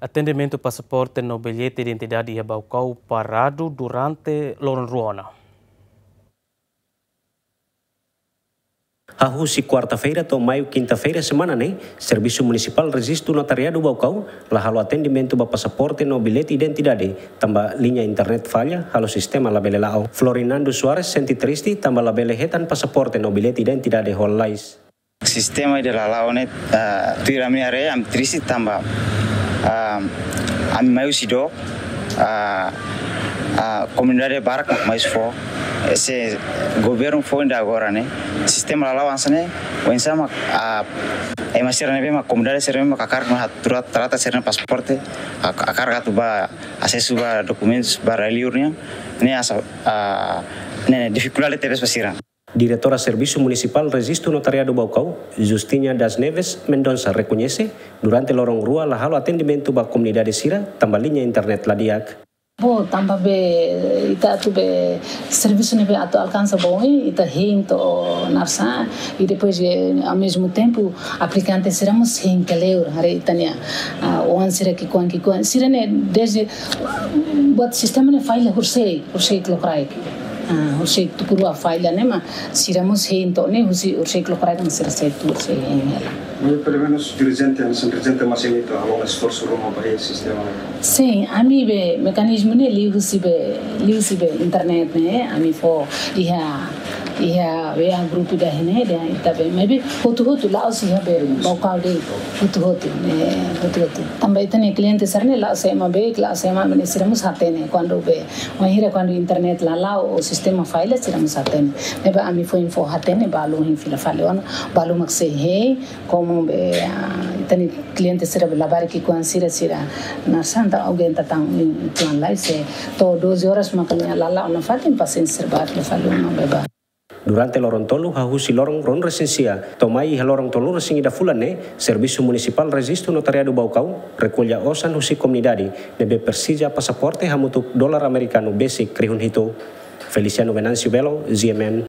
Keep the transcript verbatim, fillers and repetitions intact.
Atendimentu pasaporte no billete identidade iha Baucau paradu durante loron rua ona. Hahú husi kuarta-feira to'o maiu kinta-feira semana ne'e, Servisu Munisipál Rejistu Notariadu Baucau la halo atendimentu ba pasaporte no billete identidade, tanba liña internet falla, halo sistema labele la'o. Florinando Soares sente triste tanba labele hetan pasaporte no billete identidade ho lalais. Sistema ida la la'o ne'e, ah, tuir ami haree, ami triste tanba, ah, ami mai husi dook, ah, ah, komunidade barak mak mai husi foho. Se governu foin ida agora ne'e, sistema la la'o hanesan ne'e, oinsá mak, ah, ema sira ne'ebé mak komunidade sira ne'ebé mak hakarak atu tra-, trata sira-nia pasaporte, hak-, hakarak atu bá asesu ba dokumentus ba rai-liur nian, ne'e hanesan, ah, ne'e, ne'e difikuldade tebes ba sira. Diretora Servisu Munisipál Rejistu Notariadu Baucau, Justina das Neves Mendonça, rekoñese, durante loron rua la halo atendimentu ba komunidade sira, tanba liña internet la di'ak. Bom, tanba be, ita atu be, servisu ne'ebé atu alkansa ba oin, ita hein to'o narsá, i depois, eh, ao mesmo tempo, aplikante sira mós hein kleur, haree ita-nia, ah, oan sira ki'ikoan, ki'ikoan. Sira ne'e, dezde, buat sistema ne'e falla horisehik, horisehik lokraik. Ah, horisehik tuku rua falla ne'e mak sira mós hein to'o ne'e, husi horisehik lokraik mak sira sei tuur, sei hein hela. Mas pelumenus dirijente, hanesan dirijente mós hein to'o halo esforsu ruma ba hein sistema ne'e. Sin, ami be mekanizmu ne'e liuhusi be, liuhusi be internet ne'e, ami fó iha, iha, iha grupu ida ne'e, dehan ita be, maibé hotu-hotu la'ós iha be, Baucau de'it, hotu-hotu, ne'e, hotu-hotu. Tanba ita-nia kliente sira ne'e la'ós ema beik, la'ós ema ne'e sira mós hatene, kuandu be, wainhira kuandu internet la la'o, ou sistema falla, sira mós hatene. Ne'ebé ami foin fó hatene, balu hein fila fali ona, balu mak sei hein, komu be, ah, ita-nia kliente sira be labarik ki'ikoan sira, sira narsá entaun aguenta tan oituan lai, se to'o doze horas mak nia la la'o nafatin, pasiente sira bá fila fali ona, be bá. Durante loron tolu, hahú husi loron ruanulu resin sia to'o mai iha loron tolunulu resin ida fulan ne'e, Servisu Munisipál Rejistu Notariadu Baucau rekolla osan husi komunidade ne'ebé presiza pasaporte hamutuk dolar amerikanu besik rihun hitu. Feliciano Venâncio Belo, G M N,